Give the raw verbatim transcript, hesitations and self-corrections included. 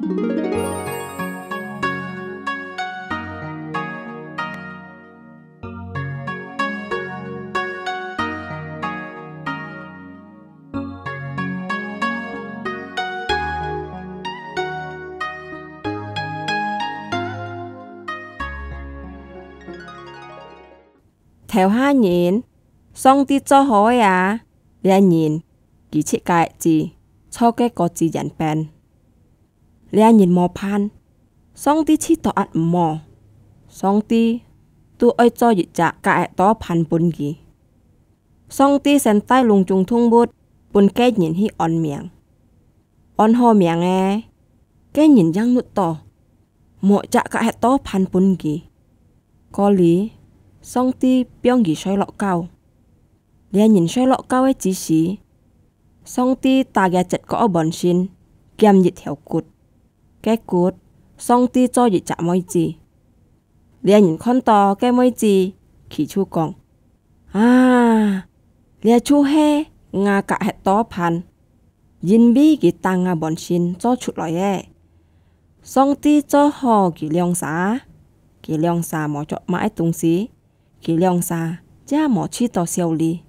頭下人，上帝做好个啊！這人舉起个枝，坐个果子園邊。這人無伴，上帝試著也毋好，上帝都愛做一隻較會多伴分佢。上帝先帶攏總動物分該人去安名。安好名了，該人正恅著，無隻較會多伴分佢。過哩，上帝放佢睡落覺。這人睡落覺个之時，上帝打佢个舌角半身，撿一條骨。該骨，上帝做一隻妹子。這人看著該妹子，佢就講：「啊，這就係𠊎較會多伴，因為佢打𠊎半身做出來个。」上帝做好佢兩儕，佢兩儕無著麼个東西，佢兩儕也無試著笑哩。